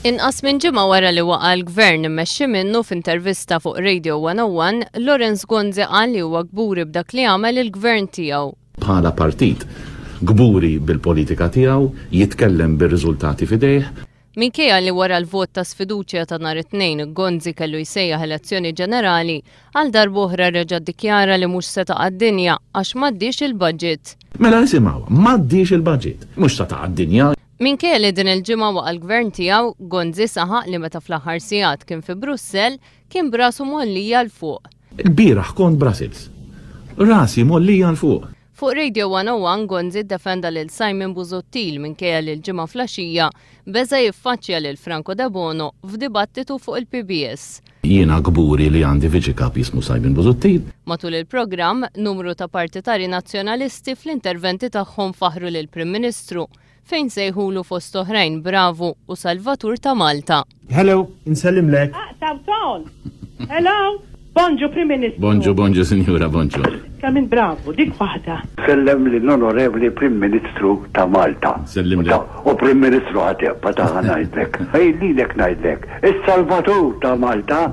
Inqas minn ġimgħa wara li waqa' l-Gvern immexxi minnu f'intervista fuq Radio 101, Lawrence Gonzi qal li huwa kburi b'dak li għamel il-Gvern tiegħu. Bħala partit, kburi bil-politika tiegħu, jitkellem bir-riżultati f'idejh. Minkejja li wara l-vot ta' sfiduċja ta' nhar it-Tnejn Gonzi kellu jsejjaħ elezzjoni ġenerali, għal darb'oħra reġa' ddikjara li mhux se taqa' d-dinja għax m'għaddiex il-budget. Mela isimgħu, m'għaddiex il-budget. Mhux se taqa' d-dinja. Minkejja li din il-ġimgħa waqa' l-Gvern tiegħu, Gonzi saħaq li meta fl-aħħar sigħat kien fi Brussell, kien b'rasu mgħollija 'l fuq. Ilbieraħ kont Brussels. Rasi mgħollija 'l fuq. Fuq Radio 101 Gonzi ddefenda lil Simon Busuttil minkejja li l-Ġimgħa flaxija beża' jiffaċċja lil Franco Debono f'dibattitu fuq il-PBS. Jiena kburi li għandi Viċi Kap jismu Simon Busuttil. Matul il-programm, numru ta' partitari Nazzjonalisti fl-interventi tagħhom faħħru lill-Prim Ministru fejn sejħulu fost oħrajn bravu u salvatur ta' Malta. Hello, insellimlek. Aqtaw tol. Hello, bonġu Prim Ministru. Bonġu, bonġu sinjura, bonġu. Kemm int bravu, dik waħda. Sellem lill-Onorevoli Prim Ministru ta' Malta. Sellimlek. U Prim Ministru ħa tibqa' ta' ngħidlek. Ej lilek ngħidlek. Is-Salvatur ta' Malta.